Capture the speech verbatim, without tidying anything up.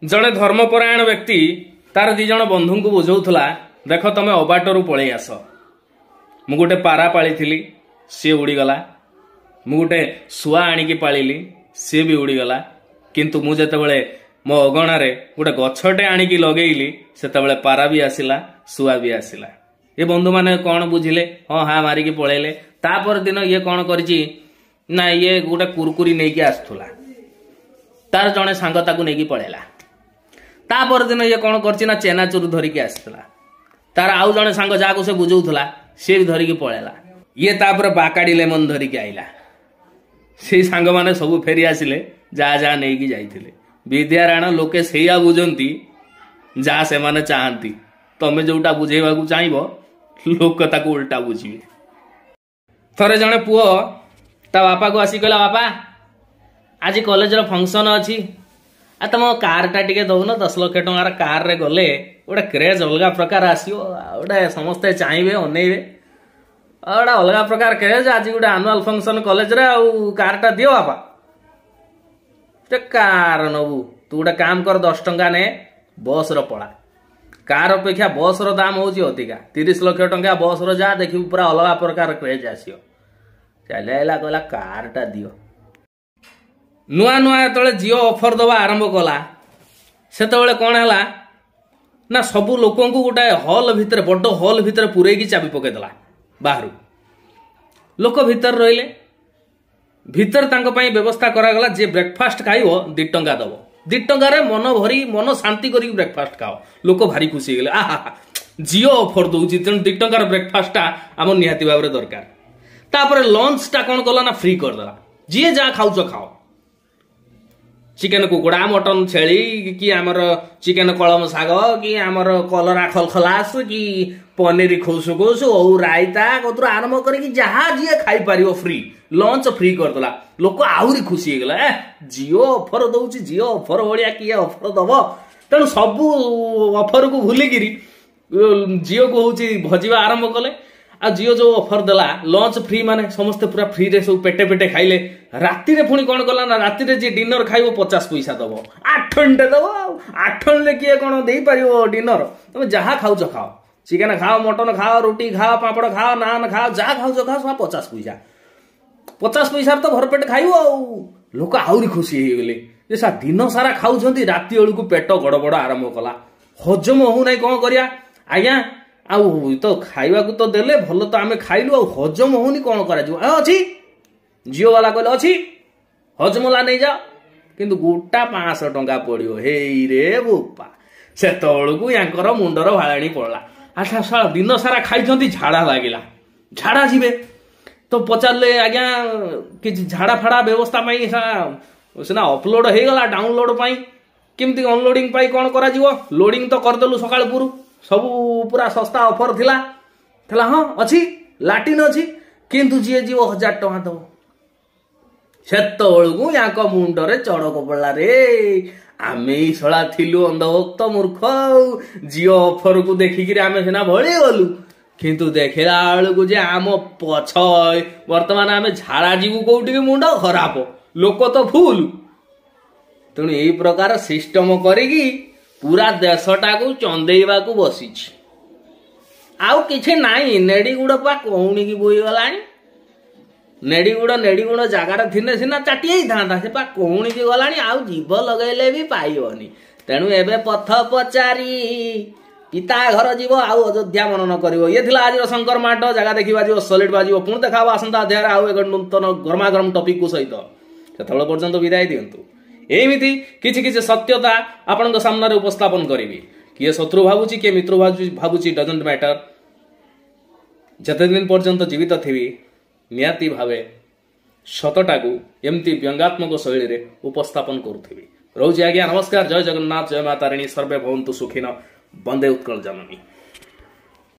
ଜଣେ ଧର୍ମପରାୟଣ ବ୍ୟକ୍ତି ତାର ଦି ଜଣ ବନ୍ଧୁଙ୍କୁ ବୁଝାଉଥିଲା, ଦେଖ ତମେ ଅବାଟରୁ ପଳେଇ ଆସ। ମୁଁ ଗୋଟେ ପାରା ପାଳିଥିଲି, ସିଏ ଉଡ଼ିଗଲା। ମୁଁ ଗୋଟେ ଶୁଆ ଆଣିକି ପାଳିଲି, ସିଏ ବି ଉଡ଼ିଗଲା। କିନ୍ତୁ ମୁଁ ଯେତେବେଳେ ମୋ ଅଗଣାରେ ଗୋଟେ ଗଛଟେ ଆଣିକି ଲଗେଇଲି, ସେତେବେଳେ ପାରା ବି ଆସିଲା, ଶୁଆ ବି ଆସିଲା। ଏ ବନ୍ଧୁମାନେ କ'ଣ ବୁଝିଲେ, ହଁ ହଁ ମାରିକି ପଳେଇଲେ। ତାପର ଦିନ ଇଏ କ'ଣ କରିଛି ନା, ଇଏ ଗୋଟେ କୁରକୁରି ନେଇକି ଆସୁଥିଲା, ତାର ଜଣେ ସାଙ୍ଗ ତାକୁ ନେଇକି ପଳେଇଲା। ତା ପରଦିନ ଇଏ କ'ଣ କରିଛି ନା, ଚେନାଚୁର ଧରିକି ଆସିଥିଲା, ତାର ଆଉ ଜଣେ ସାଙ୍ଗ ଯାହାକୁ ସେ ବୁଝଉଥିଲା ସିଏ ବି ଧରିକି ପଳେଇଲା। ଇଏ ତାପରେ ବାକାଡି ଲେମନ ଧରିକି ଆଇଲା। ସେଇ ସାଙ୍ଗମାନେ ସବୁ ଫେରି ଆସିଲେ, ଯାହା ଯାହା ନେଇକି ଯାଇଥିଲେ। ବିଦ୍ୟାରାଣ, ଲୋକେ ସେଇଆ ବୁଝନ୍ତି ଯାହା ସେମାନେ ଚାହାନ୍ତି। ତମେ ଯୋଉଟା ବୁଝେଇବାକୁ ଚାହିଁବ, ଲୋକ ତାକୁ ଉଲ୍ଟା ବୁଝିବେ। ଥରେ ଜଣେ ପୁଅ ତା ବାପାକୁ ଆସି କହିଲା, ବାପା ଆଜି କଲେଜର ଫଙ୍କସନ ଅଛି, ଆଉ ତମ କାରଟା ଟିକେ ଦଉନ। ଦଶ ଲକ୍ଷ ଟଙ୍କାର କାରରେ ଗଲେ ଗୋଟେ କ୍ରେଜ୍ ଅଲଗା ପ୍ରକାର ଆସିବ, ଆଉ ଗୋଟେ ସମସ୍ତେ ଚାହିଁବେ, ଅନେଇବେ, ଆଉ ଗୋଟେ ଅଲଗା ପ୍ରକାର କ୍ରେଜ୍। ଆଜି ଗୋଟେ ଆନୁଆଲ ଫଙ୍କସନ କଲେଜରେ, ଆଉ କାରଟା ଦିଅ ବାପା। ଗୋଟେ କାର ନବୁ? ତୁ ଗୋଟେ କାମ କର, ଦଶ ଟଙ୍କା ନେ, ବସର ପଳା। କାର ଅପେକ୍ଷା ବସର ଦାମ ହଉଛି ଅଧିକା। ତିରିଶ ଲକ୍ଷ ଟଙ୍କା ବସର ଯା, ଦେଖିବୁ ପୁରା ଅଲଗା ପ୍ରକାର କ୍ରେଜ୍ ଆସିବ। ଚାଲି ଆଇଲା, କହିଲା କାରଟା ଦିଅ। ନୂଆ ନୂଆ ଯେତେବେଳେ ଜିଓ ଅଫର ଦେବା ଆରମ୍ଭ କଲା, ସେତେବେଳେ କ'ଣ ହେଲା ନା, ସବୁ ଲୋକଙ୍କୁ ଗୋଟାଏ ହଲ୍ ଭିତରେ, ବଡ଼ ହଲ୍ ଭିତରେ ପୂରେଇକି ଚାବି ପକେଇଦେଲା ବାହାରୁ। ଲୋକ ଭିତରେ ରହିଲେ। ଭିତରେ ତାଙ୍କ ପାଇଁ ବ୍ୟବସ୍ଥା କରାଗଲା, ଯିଏ ବ୍ରେକଫାଷ୍ଟ ଖାଇବ ଦି ଟଙ୍କା ଦବ। ଦି ଟଙ୍କାରେ ମନ ଭରି, ମନ ଶାନ୍ତି କରିକି ବ୍ରେକଫାଷ୍ଟ ଖାଅ। ଲୋକ ଭାରି ଖୁସି ହେଇଗଲେ, ଆହା ଜିଓ ଅଫର ଦଉଛି, ତେଣୁ ଦି ଟଙ୍କାର ବ୍ରେକଫାଷ୍ଟଟା ଆମର ନିହାତି ଭାବରେ ଦରକାର। ତାପରେ ଲଞ୍ଚଟା କ'ଣ କଲା ନା, ଫ୍ରି କରିଦେଲା। ଯିଏ ଯାହା ଖାଉଛ ଖାଅ, ଚିକେନ କୁକୁଡ଼ା, ମଟନ ଛେଳି, କି ଆମର ଚିକେନ କଳମ ଶାଗ, କି ଆମର କଲରା ଖଲଖଲାସ, କି ପନିର ଖୁସୁ ଖୁସୁ, ଓଉ ରାଇତା କତୁରୁ ଆରମ୍ଭ କରିକି ଯାହା ଯିଏ ଖାଇପାରିବ ଫ୍ରି, ଲଞ୍ଚ ଫ୍ରି କରିଦେଲା। ଲୋକ ଆହୁରି ଖୁସି ହେଇଗଲା, ଏ ଜିଓ ଅଫର ଦଉଛି, ଜିଓ ଅଫର ଭଳିଆ କିଏ ଅଫର ଦବ? ତେଣୁ ସବୁ ଅଫରକୁ ଭୁଲିକିରି ଜିଓକୁ ହଉଛି ଭଜିବା ଆରମ୍ଭ କଲେ। ଆଉ ଜିଓ ଯୋଉ ଅଫର ଦେଲା, ଲଞ୍ଚ ଫ୍ରି, ମାନେ ସମସ୍ତେ ପୁରା ଫ୍ରିରେ ସବୁ ପେଟେ ପେଟେ ଖାଇଲେ। ରାତିରେ ପୁଣି କ'ଣ କଲା ନା, ରାତିରେ ଯିଏ ଡିନର ଖାଇବ ପଚାଶ ପଇସା ଦବ। ଆଠଣିଟେ ଦବ, ଆଉ ଆଠଣିରେ କିଏ କ'ଣ ଦେଇପାରିବ ଡିନର? ତମେ ଯାହା ଖାଉଛ ଖାଅ, ଚିକେନ ଖାଅ, ମଟନ ଖାଅ, ରୁଟି ଖାଅ, ପାମ୍ପଡ଼ ଖାଅ, ନାନ ଖାଅ, ଯାହା ଖାଉଛ ଖାଅ, ସବୁ ପଚାଶ ପଇସା। ପଚାଶ ପଇସାରେ ତ ଭରପେଟ ଖାଇବ। ଆଉ ଲୋକ ଆହୁରି ଖୁସି ହେଇଗଲେ ଯେ ସାର୍ ଦିନ ସାରା ଖାଉଛନ୍ତି। ରାତି ବେଳକୁ ପେଟ ଗଡ଼ବଡ଼ ଆରମ୍ଭ କଲା, ହଜମ ହଉନାହିଁ। କ'ଣ କରିବା ଆଜ୍ଞା? ଆଉ ତ ଖାଇବାକୁ ତ ଦେଲେ, ଭଲ ତ ଆମେ ଖାଇଲୁ, ଆଉ ହଜମ ହଉନି, କ'ଣ କରାଯିବ? ଅଛି, ଜିଓ ବାଲା କହିଲେ ଅଛି, ହଜମଲା ନେଇଯାଅ, କିନ୍ତୁ ଗୋଟା ପାଞ୍ଚଶହ ଟଙ୍କା ପଡ଼ିବ। ହେଇରେ ବୋପା, ସେତେବେଳକୁ ୟାଙ୍କର ମୁଣ୍ଡର ଭାଳାଣି ପଡ଼ିଲା। ଆଚ୍ଛା ଶଳା ଦିନ ସାରା ଖାଇଛନ୍ତି, ଝାଡ଼ା ଲାଗିଲା, ଝାଡ଼ା ଯିବେ ତ ପଚାରିଲେ, ଆଜ୍ଞା କିଛି ଝାଡ଼ା ଫାଡ଼ା ବ୍ୟବସ୍ଥା ପାଇଁ ସିନା ଅପଲୋଡ ହେଇଗଲା, ଡାଉନଲୋଡ ପାଇଁ କେମିତି, ଅନଲୋଡିଂ ପାଇଁ କ'ଣ କରାଯିବ? ଲୋଡିଂ ତ କରିଦେଲୁ ସକାଳୁ ପୁରୁ, ସବୁ ପୁରା ଶସ୍ତା ଅଫର ଥିଲା। ଥିଲା ହଁ ଅଛି, ଲାଟିନ୍ ଅଛି, କିନ୍ତୁ ଯିଏ ଯିବ ହଜାର ଟଙ୍କା ଦବ। ସେତେବେଳକୁ ୟାଙ୍କ ମୁଣ୍ଡରେ ଚଡ଼କ ପଡ଼ିଲା ରେ, ଆମେ ଏଇ ଶଳା ଥିଲୁ ଅନ୍ଧଭକ୍ତ ମୂର୍ଖ, ଆଉ ଜିଓ ଅଫରକୁ ଦେଖିକିରି ଆମେ ସିନା ଭଳି ଗଲୁ, କିନ୍ତୁ ଦେଖିଲା ବେଳକୁ ଯେ ଆମ ପଛ ବର୍ତ୍ତମାନ ଆମେ ଝାଡ଼ା ଯିବୁ କୋଉଠିକି, ମୁଣ୍ଡ ଖରାପ, ଲୋକ ତ ଫୁଲ। ତେଣୁ ଏଇ ପ୍ରକାର ସିଷ୍ଟମ କରିକି ପୁରା ଦେଶଟାକୁ ଚନ୍ଦେଇବାକୁ ବସିଛି, ଆଉ କିଛି ନାହିଁ। ନେଡ଼ିଗୁଡ଼ ପା କଉଣିକି ବୋଇଗଲାଣି। ନେଡ଼ିଗୁଡ଼ ନେଡ଼ିଗୁଡ଼ ଜାଗାରେ ଥିଲେ ସିନା ଚାଟି ହେଇଥାନ୍ତା, ସେ ପା କଉଣିକି ଗଲାଣି, ଆଉ ଜୀବ ଲଗେଇଲେ ବି ପାଇବନି। ତେଣୁ ଏବେ ପଥ ପଚାରି ପିତା ଘର ଯିବ, ଆଉ ଅଯୋଧ୍ୟା ମନନ କରିବ। ଇଏ ଥିଲା ଆଜିର ଶଙ୍କର ମାଟ। ଜାଗା ଦେଖି ବାଜିବ, ସଲିଡ୍ ବାଜିବ। ପୁଣି ଦେଖା ହବ ଆସନ୍ତା ଅଧ୍ୟାୟରେ ଆଉ ଏକ ନୂତନ ଗରମାଗରମ ଟପିକକୁ ସହିତ। ସେତେବେଳେ ପର୍ଯ୍ୟନ୍ତ ବିଦାୟ ଦିଅନ୍ତୁ। ଏମିତି କିଛି କିଛି ସତ୍ୟତା ଆପଣଙ୍କ ସାମ୍ନାରେ ଉପସ୍ଥାପନ କରିବି। କିଏ ଶତ୍ରୁ ଭାବୁଛି, କିଏ ମିତ୍ର ଭାବୁଛି, ଡଜଣ୍ଟ ମ୍ୟାଟର। ଯେତେ ଦିନ ପର୍ଯ୍ୟନ୍ତ ଜୀବିତ ଥିବି, ନିହାତି ଭାବେ ସତଟାକୁ ଏମିତି ବ୍ୟଙ୍ଗାତ୍ମକ ଶୈଳୀରେ ଉପସ୍ଥାପନ କରୁଥିବି। ରହୁଛି ଆଜ୍ଞା, ନମସ୍କାର, ଜୟ ଜଗନ୍ନାଥ, ଜୟ ମା ତାରିଣୀ, ସର୍ବେ ଭବନ୍ତୁ ସୁଖିନ, ବନ୍ଦେ ଉତ୍କଳ ଜନନୀ।